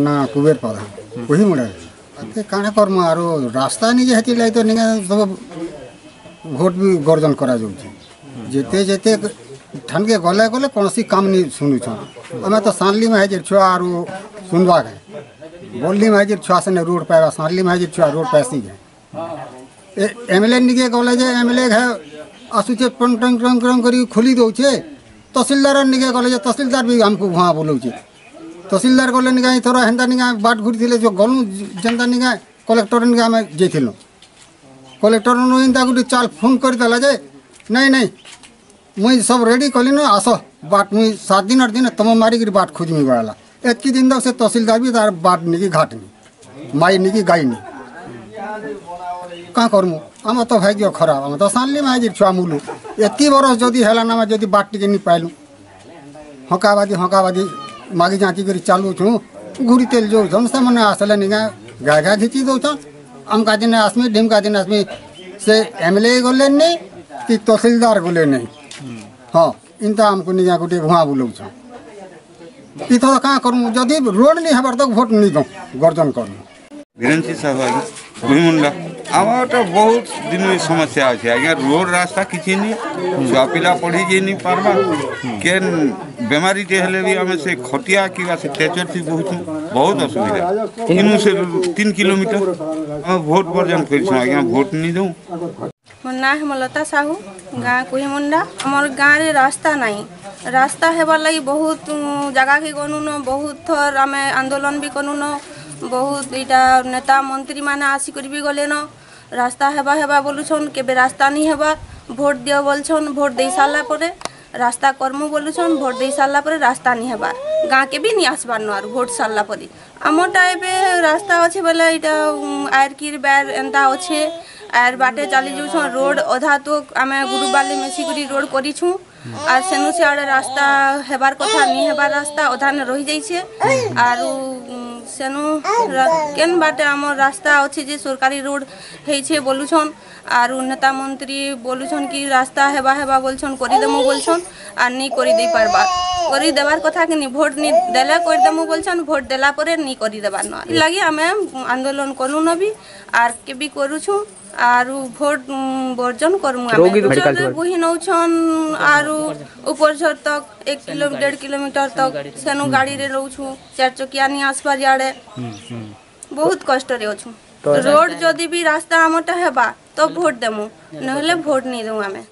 ନା କୁବେର ପ୍ରଧାନ କୁହିମୁଣ୍ଡା। କାଣା କର୍ମୁ ଆରୁ ରାସ୍ତା ନିଜେ ହେଥିର୍ଲାଗି ତ ନିକେ ସବୁ ଭୋଟ ବି ଗର୍ଜନ କରାଯାଉଛି। ଯେତେ ଯେତେ ଠାନ୍କେ ଗଲେ ଗଲେ କୌଣସି କାମ ନି ଶୁଣୁଛନ୍। ଆମେ ତ ସାନ୍ଲି ମାଇଜିର ଛୁଆ ଆରୁ ଶୁଣବା କେଁ, ବଲଲି ମାଇଜିର ଛୁଆ ସେନେ ରୋଡ଼ ପାଇବା, ସାନ୍ଲି ମାଇଜିର ଛୁଆ ରୋଡ଼ ପାଇସି କେଁ। ଏମ୍ ଏଲ୍ ଏ ନିକେ ଗଲେ ଯେ ଏମ୍ ଏଲ୍ ଏ ଘେ ଆସୁଛେ, ଟଙ୍ଗ ଟଙ୍ଗ ଟଙ୍ଗ ଟଙ୍ଗ କରି ଖୋଲି ଦଉଛେ। ତହସିଲଦାର ନିକେ ଗଲେ ଯେ ତହସିଲଦାର ବି ଆମକୁ ଭୁଆଁ ବୁଲଉଛେ। ତହସିଲଦାର ଗଲେ ନିକା ଏଥର ହେନ୍ତା ନିକା ବାଟ ଘୁରିଥିଲେ ଯେ ଗଲୁ ଯେନ୍ତା ନିକା କଲେକ୍ଟର ନିକା ଆମେ ଯାଇଥିଲୁ। କଲେକ୍ଟର ନୁ ଏନ୍ତା ଗୋଟେ ଚାଲ ଫୋନ୍ କରିଦେଲା ଯେ ନାଇଁ ନାଇଁ, ମୁଇଁ ସବୁ ରେଡ଼ି କଲିନ, ଆସ ବାଟ ମୁଇଁ 7 ଦିନ 8 ଦିନ ତମ ମାରିକିରି ବାଟ ଖୋଜମି ବଳଲା। ଏତ୍କି ଦିନ ତକ ସେ ତହସିଲଦାର ବି ତାର ବାଟ ନିକି ଘାଟନି ମାଇ ନିକି ଗାଇନି। କାଁ କର୍ମୁ? ଆମର ତ ଭାଗ୍ୟ ଖରାପ, ଆମେ ତ ସାନ୍ଲି ମାଇଜିର ଛୁଆ ମୁଲୁ। ଏତ୍କି ବରଷ ଯଦି ହେଲାନ, ଆମେ ଯଦି ବାଟ ଟିକେ ନି ପାଇଲୁ, ହକାବାଦି ହକାବାଦି ମାଗି ଯାଞ୍ଚି କରି ଚାଲୁଛୁଁ, ଘୁରି ତେଲ ଯାଉଛନ୍। ସେମାନେ ଆସିଲେ ନିକା ଗାଏ ଗାଏ ଘିଚି ଦଉଛନ୍। ଆମକା ଦିନେ ଆସମି, ଢିମକା ଦିନେ ଆସମି। ସେ ଏମ୍ ଏଲ୍ ଏ ଗଲେ ନି କି ତହସିଲଦାର ଗଲେ ନେଇ। ହଁ, ଇନ୍ତା ଆମକୁ ନିକା ଗୋଟେ ଭୁଆଁ ବୁଲଉଛନ୍। ଇଥର କାଁ କରମୁ? ଯଦି ରୋଡ଼ ନି ହେବାର ତ ଭୋଟ ନି ଦଉଁ, ଗର୍ଜନ କରମୁ। ବିରଞ୍ଚି ସାହୁ ଆଜ୍ଞା, କୁହିମୁଣ୍ଡା। ଆମର ତ ବହୁତ ଦିନ ସମସ୍ୟା ଅଛି ଆଜ୍ଞା। ରୋଡ଼ ରାସ୍ତା କିଛି ନି, ଛୁଆ ପିଲା ପଢ଼ି ଯାଇ ନି ପାରବା। କେନ୍ ବେମାରୀଟେ ହେଲେ ବି ଆମେ ସେ ଖଟିଆ କିମ୍ବା ସେ ଟ୍ରେଚରଥି ବହୁଛୁ, ବହୁତ ଅସୁବିଧା। ଇନୁ ସେ 3 କିଲୋମିଟର। ଆମେ ଭୋଟ ବର୍ଜନ କରିଛୁ ଆଜ୍ଞା, ଭୋଟ ନି ଦଉଁ। ମୋ ନାଁ ହେମଲତା ସାହୁ, ଗାଁ କୁହିମୁଣ୍ଡା। ଆମର ଗାଁରେ ରାସ୍ତା ନାହିଁ। ରାସ୍ତା ହେବାର୍ ଲାଗି ବହୁତ ଜାଗାକେ ଗନୁନ, ବହୁତ ଥର ଆମେ ଆନ୍ଦୋଳନ ବି କନୁନ। ବହୁତ ଏଇଟା ନେତା ମନ୍ତ୍ରୀ ମାନେ ଆସିକରି ବି ଗଲେନ। ରାସ୍ତା ହେବା ହେବା ବୋଲୁଛନ୍, କେବେ ରାସ୍ତା ନି ହେବା। ଭୋଟ ଦିଅ ବୋଲଛନ୍, ଭୋଟ ଦେଇ ସାରିଲା ପରେ ରାସ୍ତା କର୍ମୁ ବୋଲୁଛନ୍। ଭୋଟ ଦେଇ ସାରିଲା ପରେ ରାସ୍ତା ନି ହେବାର୍, ଗାଁକେ ବି ନି ଆସବାର୍ ନ। ଆରୁ ଭୋଟ ସାରିଲା ପରେ ଆମରଟା ଏବେ ରାସ୍ତା ଅଛେ ବେଲେ ଏଇଟା ଆୟର କିର୍ ବ୍ୟାର ଏନ୍ତା ଅଛେ, ଆର୍ ବାଟେ ଚାଲି ଯାଉଛନ୍। ରୋଡ଼ ଅଧା ତ ଆମେ ଗୁରୁବାଲି ମିଶିକରି ରୋଡ଼ କରିଛୁଁ। ଆର୍ ସେନୁ ସିଆଡ଼େ ରାସ୍ତା ହେବାର୍ କଥା, ନି ହେବାର୍, ରାସ୍ତା ଅଧାନେ ରହିଯାଇଛେ। ଆରୁ ସେନୁ କେନ୍ ବାଟେ ଆମର୍ ରାସ୍ତା ଅଛି ଯେ ସରକାରୀ ରୋଡ଼ ହେଇଛେ ବୋଲୁଛନ୍। ଆରୁ ନେତା ମନ୍ତ୍ରୀ ବୋଲୁଛନ୍ କି ରାସ୍ତା ହେବା ହେବା ବୋଲଛନ୍, କରିଦେମୁ ବୋଲଛନ୍, ଆର୍ ନି କରିଦେଇ ପାରବାର୍। କରିଦେବାର୍ କଥା କି ନି, ଭୋଟ ନି ଦେଲେ କରିଦେମୁ ବୋଲଛନ୍, ଭୋଟ ଦେଲା ପରେ ନି କରିଦେବାର୍ ନ। ଲାଗି ଆମେ ଆନ୍ଦୋଳନ କରୁନ ବି ଆର୍ କେ ବି କରୁଛୁଁ, ଆରୁ ଭୋଟ ବର୍ଜନ କରମୁ। ଆମେ ବୋହି ନଉଛନ୍ ଆରୁ ଉପରଝର ତକ୍ 1 କିଲୋ 1.5 କିଲୋମିଟର ତକ୍ ସେନୁ ଗାଡ଼ିରେ ରହୁଛୁ। ଚାରି ଚକିଆ ନି ଆସବାର୍, ଇଆଡ଼େ ବହୁତ କଷ୍ଟରେ ଅଛୁ। ରୋଡ଼ ଯଦି ବି ରାସ୍ତା ଆମରଟା ହେବା ତ ଭୋଟ ଦେମୁ, ନହେଲେ ଭୋଟ ନି ଦେଉ ଆମେ।